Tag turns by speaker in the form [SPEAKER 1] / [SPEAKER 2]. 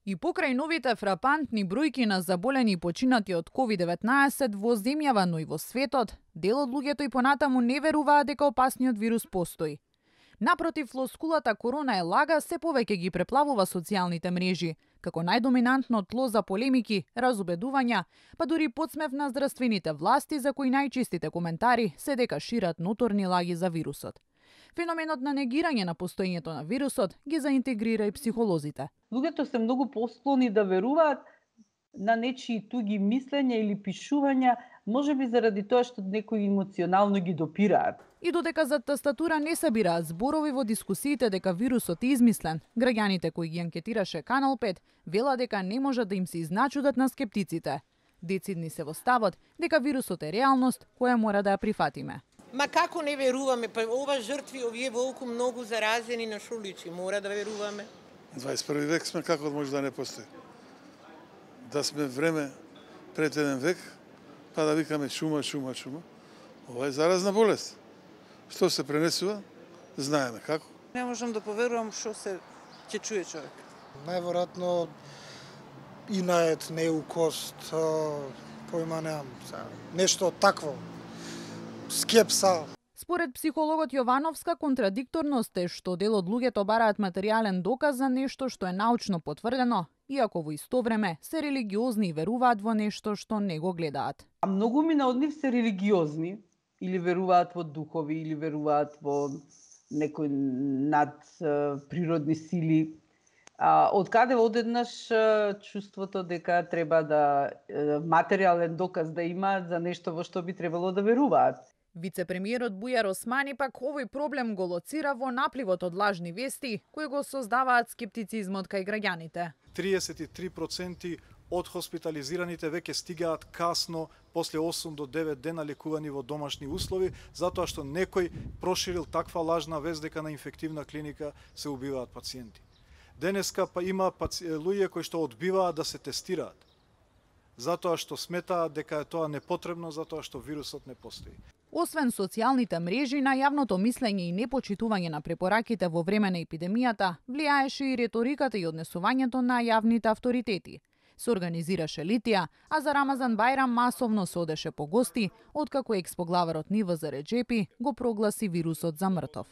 [SPEAKER 1] И покрај новите фрапантни бројки на заболени и починати од COVID-19 во земјава, но и во светот, дел од луѓето и понатаму не веруваат дека опасниот вирус постои. Напротив, флоскулата корона е лага се повеќе ги преплавува социјалните мрежи, како најдоминантно тло за полемики, разубедувања, па дури подсмев на здравствените власти за кои најчистите коментари се дека шират ноторни лаги за вирусот. Феноменот на негирање на постоењето на вирусот ги заинтегрира и психолозите.
[SPEAKER 2] Луѓето се многу посклони да веруваат на нечии туги мислења или пишувања, можеби заради тоа што некои емоционално ги допираат.
[SPEAKER 1] И додека за тастатура не събираат зборови во дискусиите дека вирусот е измислен, граѓаните кои ги анкетираше Канал 5 вела дека не можат да им се изначудат на скептиците. Децидни се во ставот дека вирусот е реалност која мора да ја прифатиме.
[SPEAKER 3] Ма како не веруваме? Па ова жртви, овие волку многу заразени на шуличи, мора да веруваме.
[SPEAKER 4] 21 век сме, како може да не постои? Да сме време пред еден век, па да викаме чума. Ова е заразна болест. Што се пренесува, знаеме како.
[SPEAKER 5] Не можам да поверувам што се ќе чуе човек.
[SPEAKER 6] Најверојатно инает, неукост, појма немам, нешто такво. Скепса.
[SPEAKER 1] Според психологот Јовановска, контрадикторност е што дел од луѓето бараат материјален доказ за нешто што е научно потврдено, иако во исто време се религиозни и веруваат во нешто што не го гледаат.
[SPEAKER 2] А многу мина од нив се религиозни, или веруваат во духови, или веруваат во некои надприродни сили. Од каде одеднаш чувството дека треба да материјален доказ да имаат за нешто во што би требало да веруваат.
[SPEAKER 1] Вице-премиерот Бујар Османи пак овој проблем го лоцира во напливот од лажни вести кои го создаваат скептицизмот кај граѓаните.
[SPEAKER 7] 33% од хоспитализираните веќе стигаат касно после 8 до 9 дена лекувани во домашни услови, затоа што некој проширил таква лажна вест дека на инфективна клиника се убиваат пациенти. Денеска па има луѓе кои што одбиваат да се тестираат, затоа што сметаат дека е тоа непотребно, затоа што вирусот не постои.
[SPEAKER 1] Освен социјалните мрежи, на јавното мислење и непочитување на препораките во време на епидемијата, влијаеше и реториката и однесувањето на јавните авторитети. Се организираше литија, а за Рамазан Бајрам масовно се одеше по гости, откако експоглаварот Ниваза Реџепи го прогласи вирусот за мртов.